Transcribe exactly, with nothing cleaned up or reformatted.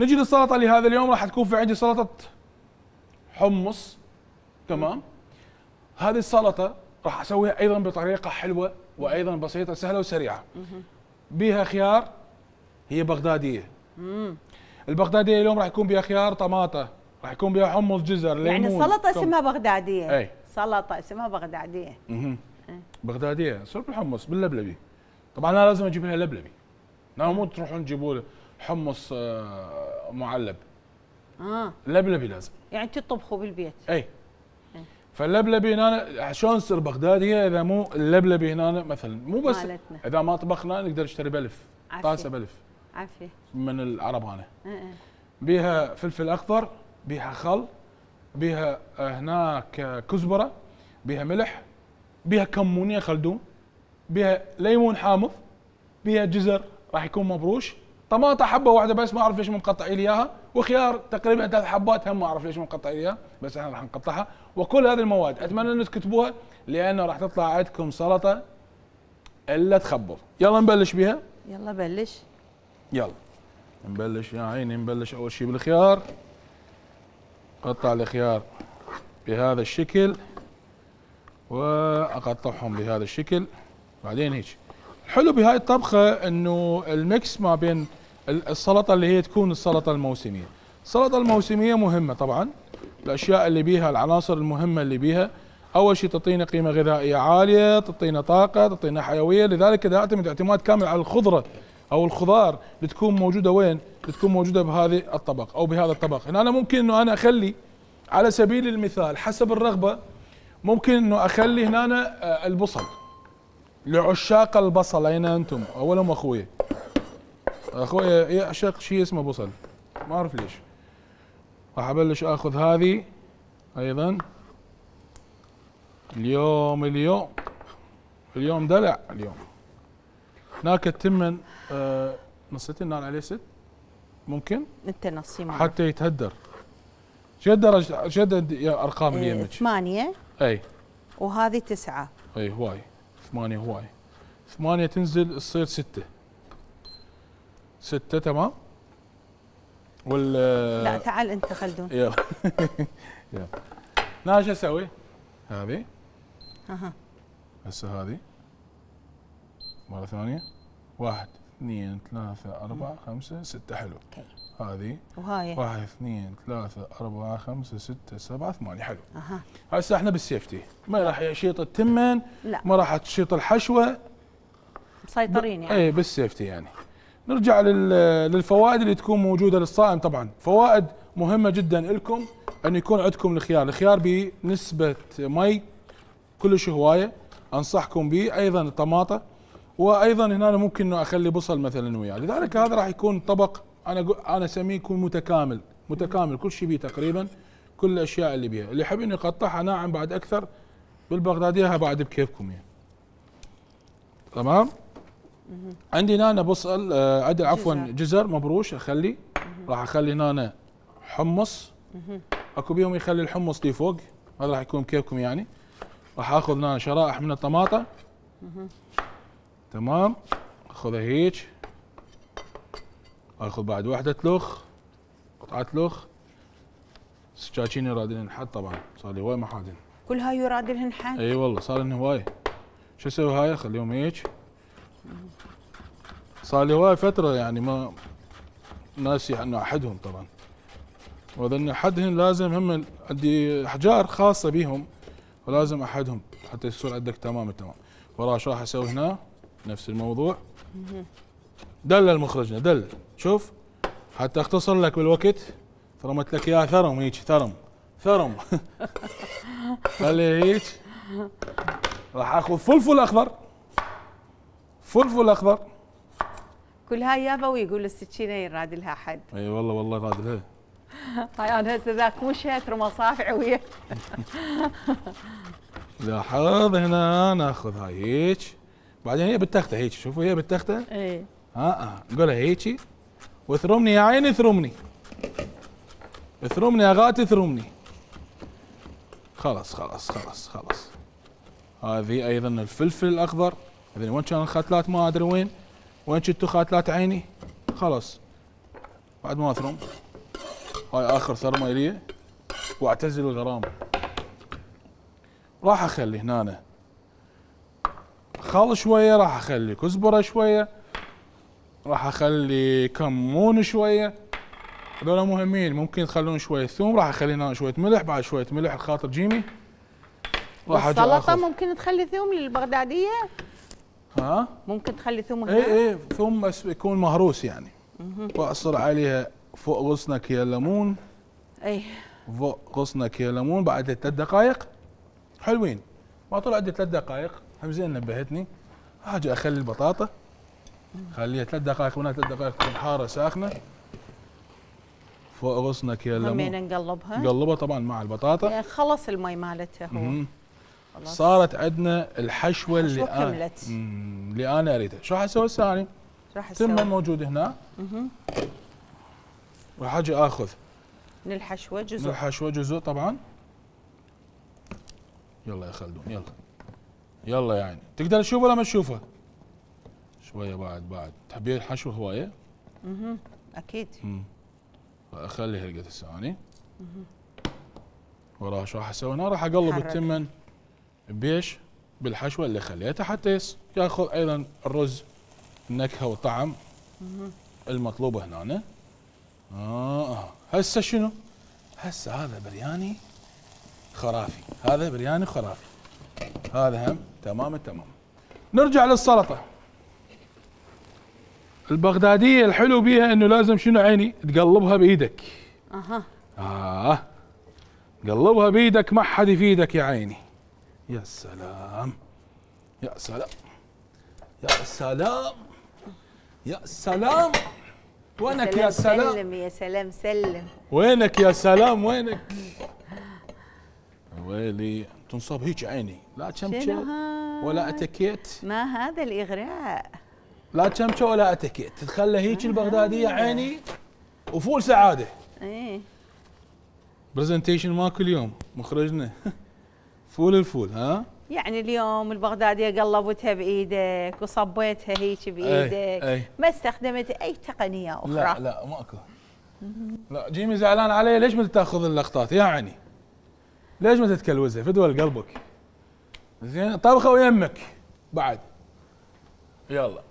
نجي للسلطه اللي هذا اليوم راح تكون في عندي سلطه حمص. تمام. هذه السلطه راح اسويها ايضا بطريقه حلوه وايضا بسيطه سهله وسريعه. بيها خيار، هي بغداديه. امم البغداديه اليوم راح يكون بيها خيار، طماطه، راح يكون بيها حمص، جزر، ليمون. يعني السلطه اسمها بغداديه. اي سلطه اسمها بغداديه. اها بغداديه صرف الحمص باللبلبي. طبعا انا لازم اجيب لها لبلبي. لا مو تروحون تجيبوا حمص آه معلب. اه لبلبي لازم. يعني تطبخوا بالبيت. اي فاللبلبي هنا شلون تصير بغداديه اذا مو اللبلبي هنا مثلا مو بس مالتنا. اذا ما طبخنا نقدر نشتري بلف، طاسه بلف عافيه من العرب هنا. اه بيها فلفل اخضر، بيها خل، بيها هناك كزبره، بيها ملح، بيها كمونيه خلدون، بيها ليمون حامض، بيها جزر راح يكون مبروش، طماطه حبه واحده بس ما اعرف ليش مو مقطعين لي اياها، وخيار تقريبا ثلاث حبات هم ما اعرف ليش مو مقطعين لي اياها، بس احنا راح نقطعها. وكل هذه المواد اتمنى ان تكتبوها لانه راح تطلع عندكم سلطه الا تخبر. يلا نبلش بها. يلا بلش. يلا نبلش يا عيني. نبلش اول شيء بالخيار. قطع الخيار بهذا الشكل واقطعهم بهذا الشكل. بعدين هيك الحلو بهاي الطبخه انه الميكس ما بين السلطه اللي هي تكون السلطه الموسميه. السلطه الموسميه مهمه طبعا، الاشياء اللي بيها العناصر المهمه اللي بيها اول شيء تعطينا قيمه غذائيه عاليه، تعطينا طاقه، تعطينا حيويه، لذلك اذا اعتمد اعتماد كامل على الخضره او الخضار اللي تكون موجوده وين؟ اللي تكون موجوده بهذه الطبق او بهذا الطبق. هنا أنا ممكن انه انا اخلي على سبيل المثال حسب الرغبه ممكن انه اخلي هنا أنا البصل لعشاق البصل. اين انتم؟ اولهم اخوي. اخوي يعشق شيء اسمه بصل ما اعرف ليش. راح ابلش اخذ هذه ايضا. اليوم اليوم اليوم دلع اليوم. هناك التمن آه نصيت النار عليه ست ممكن؟ انت نصي حتى يتهدر. شد درجة شد ارقام اللي يمك؟ ثمانية. اي وهذه تسعة. اي هواي. ثمانية هواي. ثمانية تنزل تصير ستة. ستة تمام؟ وال لا تعال انت خلدون. يلا يلا. انا ايش اسوي؟ هذه اها هسه هذه مرة ثانية. واحد اثنين ثلاثة أربعة خمسة ستة. حلو. هذه وهاي واحد اثنين ثلاثة أربعة خمسة ستة سبعة ثمانية. حلو. اها هسه احنا بالسيفتي ما راح يشيط التمن، لا ما راح تشيط الحشوة، مسيطرين يعني. اي بالسيفتي يعني. نرجع للفوائد اللي تكون موجودة للصائم. طبعا فوائد مهمة جدا لكم أن يكون عندكم الخيار. الخيار بنسبة مي كلش هواية أنصحكم به. أيضا الطماطة، وأيضا هنا ممكن إنه أخلي بصل مثلا وياه. لذلك هذا راح يكون طبق أنا أنا أسميه يكون متكامل. متكامل كل شيء بيه تقريبا، كل الأشياء اللي بيها. اللي يحب إنه يقطعها ناعم بعد أكثر بالبغدادية بعد بكيفكم يعني. تمام. عندي هنا بصل آه عندي عفوا جزر مبروش اخلي. راح اخلي هنا حمص. اكو بيهم يخلي الحمص لي فوق، هذا راح يكون كيفكم يعني. راح اخذ هنا شرائح من الطماطه. تمام. اخذها هيك. اخذ بعد وحده لخ، قطعه لخ. سكاكين يرادلن حد طبعا، صار لي هواي محادن. كل هاي يرادلهن حد؟ اي والله صار لنا هواي. شو اسوي هاي؟ اخليهم هيك. صار لي هواي فترة يعني ما ناسي انه احدهم طبعا. واذا احدهم لازم هم عندي احجار خاصة بيهم ولازم احدهم حتى يصير عندك تمام التمام. وراه شو راح اسوي هنا؟ نفس الموضوع. دلل مخرجنا دلل. شوف حتى اختصر لك بالوقت ثرمت لك اياه ثرم هيك ثرم ثرم. خلي هيك. راح اخذ فلفل اخضر. فلفل اخضر. كل هاي يابا ويقول السكينه يراد لها حد. اي والله والله يراد لها. هاي انا هسه ذاك مو شاتر مصافع ويا. لاحظ هنا ناخذ هاي هيك. بعدين هي بالتخته هيك. شوفوا هي بالتخته. اي ها اه نقولها هيك. واثرمني يا عيني اثرمني. اثرمني يا غاتي اثرمني. خلاص خلاص خلاص خلاص. هذه ايضا الفلفل الاخضر. هذين وين كان الختلات ما ادري وين. وين شفتوا خاتلات عيني؟ خلاص بعد ما اثرم هاي اخر ثرمه الي واعتزل الغرام. راح اخلي هنا خل شويه، راح اخلي كزبره شويه، راح اخلي كمون شويه، هذول مهمين. ممكن تخلون شويه ثوم، راح اخلي هنا شويه ملح، بعد شويه ملح خاطر جيمي. راح السلطه ممكن تخلي ثوم للبغداديه؟ ها؟ ممكن تخلي ثوم هنا؟ اي اي ثوم بس يكون مهروس يعني. واعصر عليها فوق غصنه كيا ليمون. اي فوق غصنه كيا ليمون بعد ثلاث دقائق حلوين. ما طلع عندي ثلاث دقائق، هم زين نبهتني. اجي اخلي البطاطا، خليها ثلاث دقائق منها ثلاث دقائق تكون حاره ساخنه. فوق غصنه كيا ليمون. همين نقلبها؟ نقلبها طبعا مع البطاطا. يعني خلص المي مالتها هو. خلاص. صارت عندنا الحشوه اللي انا كملت. اللي انا اريدها. شو راح اسوي هسه؟ راح اسوي تمن موجود هنا. اها راح اجي اخذ من الحشوه جزء. من الحشوه جزء طبعا. يلا يا خلدون يلا يلا يا عيني. تقدر تشوفه ولا ما تشوفه؟ شويه بعد بعد. تحبين الحشوه هوايه؟ اها اكيد. امم اخلي هلقة الثاني. وراها شو راح اسوي هنا؟ راح اقلب حرك. التمن بيش بالحشوه اللي خليتها حتى ياخذ ايضا الرز النكهه والطعم المطلوبه هنا. اه هسه شنو؟ هسه هذا برياني خرافي، هذا برياني خرافي، هذا هم تمام التمام. نرجع للسلطه البغداديه. الحلو بيها انه لازم شنو عيني؟ تقلبها بايدك. اها اه قلبها بايدك، ما حد يفيدك يا عيني. يا سلام يا سلام يا سلام يا سلام. وينك يا سلام؟ سلم يا سلام سلم. وينك يا سلام وينك؟ ويلي تنصب هيك عيني، لا شمشة ولا اتكيت. ما هذا الاغراء؟ لا شمشة ولا اتكيت، تتخلى هيك البغداديه عيني وفول سعاده. ايه برزنتيشن ماكو اليوم مخرجنا. فول الفول ها؟ يعني اليوم البغداديه قلبتها بايدك وصبيتها هيك بايدك. أي. أي. ما استخدمت اي تقنيه اخرى. لا لا ماكو. لا جيمي زعلان علي. ليش ما تاخذ اللقطات يا عيني؟ ليش ما تتكلوزها؟ فدوى لقلبك. زين طبخه ويمك بعد. يلا